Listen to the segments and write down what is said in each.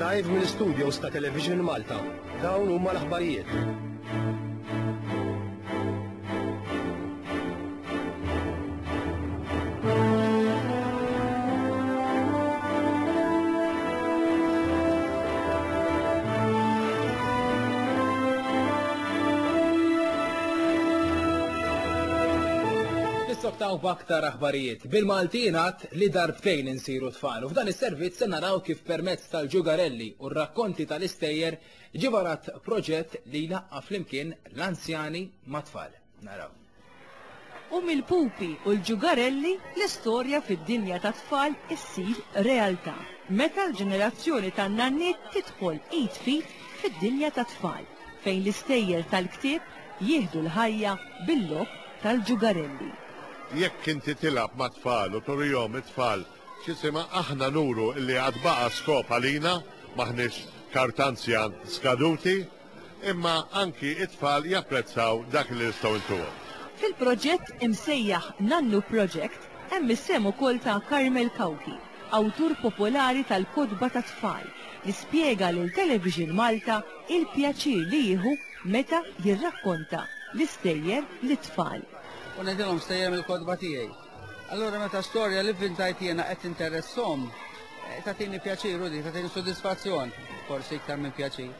Live mill-studios ta' Television Malta. Dawn huma l-aħbarijiet. Nissoktaw b'aktar aħbarijiet. Bil-Malti jingħad li darbtejn insiru tfal u f'dan is-servizz se naraw kif permezz tal-ġugarelli u r-rakkonti tal-istejjer ġie varat proġett li jlaqqa' flimkien l-anzjani mat-tfal. Naraw. U mill-pupi u l-ġugarelli l-istorja fid-dinja tat-tfal issir realtà meta l-ġenerazzjoni tan-nanniet tidħol id f'id fid-dinja tat-tfal fejn l-istejjer tal-ktieb jieħdu l-ħajja bil-logħob tal-ġugarelli. Jekk inti tilgħab mat-tfal u turihom it-tfal x'isimha aħna nuru illi għad baqa' skop għalina, m'aħniex kartanzjan skaduti, imma anki it-tfal japprezzaw dak li nistgħu ntuhom. Fil-proġett imsejjaħ Nannu Project hemm is-sehem ukoll ta' Carmel Cauchi, awtur popolari tal-kotba tat-tfal, li spjega lil Television Malta il-pjaċir li jieħu meta jirrakkonta l-istejjer lit-tfal. U ngħidilhom stejjer mill-kotba tiegħi. Allura meta storja li vvintajt jiena qed tinteresshom, eh, tagħtini pjaċir u di, tagħtini sodisfazzjon, forsi iktar minn pjaċir.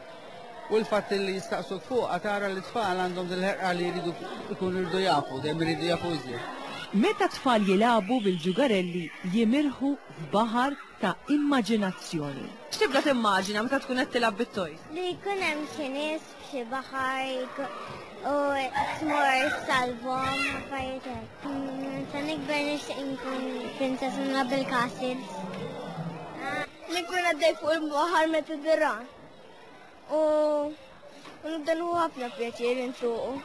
U l-fatt li jistaqsuk fuqha tara li tfal għandhom dil-ħerqa li jridu jkunu jridu jafu, dejjem iridu jafu iżjed. Meta t-tfal jilagħbu bil-ġugarelli jimirħu f'baħar ta' immaġinazzjoni. X'tibda timmaġina meta tkun qed tilgħab bit-toys? Li jkun hemm xi nies f'xi baħar u tmur salvhom affarijiet hekk. Meta nikber nixtieq inkun princess u nilgħab bil-castles. Li nkun għaddej fuq il-baħar Mediterran. U nibda nieħu ħafna pjaċir insuqu.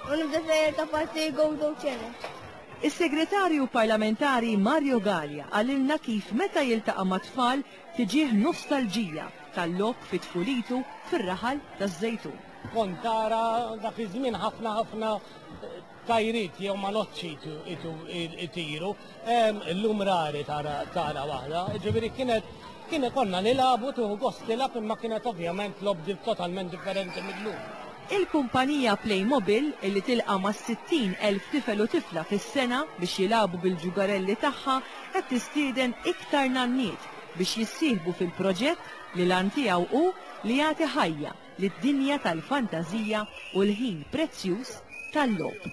U nibda sejjer ta' parti Gozo Channel. Is-Segretarju Parlamentari Mario Galea qalilna kif meta jiltaqa' mat-tfal tiġih nostalġija tal-logħob fi tfulitu fir-raħal taż-Żejtun. Kont tara dak iż-żmien ħafna ħafna tajriet jew manoċċi itiru, illum rari tara tara waħda. Ġifieri kienet kien konna nilagħbu tieħu gost tilgħab imma kienet ovvjament logħob totalment differenti mil-lum. Il-kumpanija Playmobil, li tilqa' mas-60,000 tifel u tifla fis-sena biex jilagħbu bil-ġugarelli tagħha, qed tistieden iktar nanniet biex jissieħbu fil-proġett li l-għan tiegħu hu li jagħti ħajja lid-dinja tal-fantażija u l-ħin prezzjuż tal-logħob.